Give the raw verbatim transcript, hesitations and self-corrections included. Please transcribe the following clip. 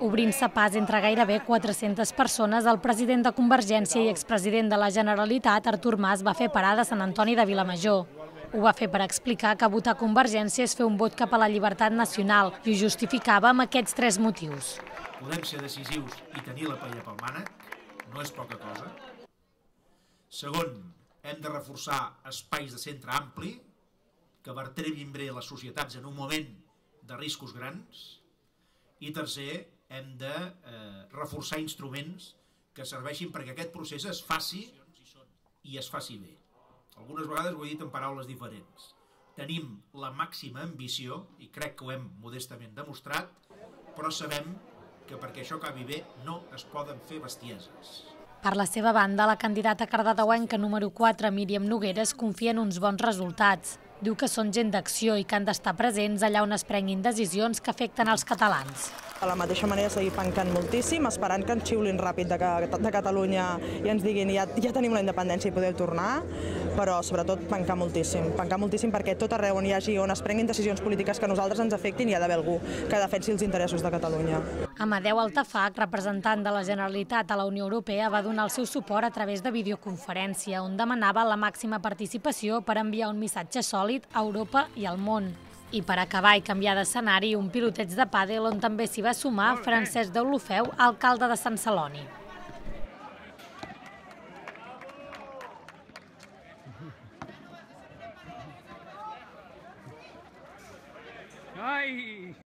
Obrint-se pas entre gairebé quatre-centes persones, el president de Convergència i expresident de la Generalitat, Artur Mas, va fer parada a Sant Antoni de Vilamajor. Ho va fer per explicar que votar Convergència és fer un vot cap a la llibertat nacional i ho justificava amb aquests tres motius. Podem ser decisius i tenir la paella pel mànec, no és poca cosa. Segon, hem de reforçar espais de centre ampli que vertebrin bé les societats en un moment de riscos grans. I tercer, hem de eh, reforçar instruments que serveixin perquè aquest procés es faci i es faci bé. Algunes vegades ho he dit en paraules diferents. Tenim la màxima ambició, i crec que ho hem modestament demostrat, però sabem que perquè això acabi bé no es poden fer bestieses. Per la seva banda, la candidata cardedeuenca número quatre, Míriam Nogueras, confia en uns bons resultats. Diu que són gent d'acció i que han d'estar presents allà on es prenguin decisions que afecten els catalans. De la mateixa manera, seguir pencant moltíssim, esperant que ens xiulin ràpid de, de Catalunya i ens diguin ja, ja tenim la independència i podeu tornar, però sobretot pencar moltíssim. Pencar moltíssim perquè tot arreu on hi hagi, on es prenguin decisions polítiques que a nosaltres ens afectin, hi ha d'haver algú que defensi els interessos de Catalunya. Amadeu Altafach, representant de la Generalitat a la Unió Europea, va donar el seu suport a través de videoconferència, on demanava la màxima participació per enviar un missatge sòlid a Europa i al món. I per acabar i canviar d'escenari, un piloteig de pàdel on també s'hi va sumar Francesc Deulofeu, alcalde de Sant Celoni.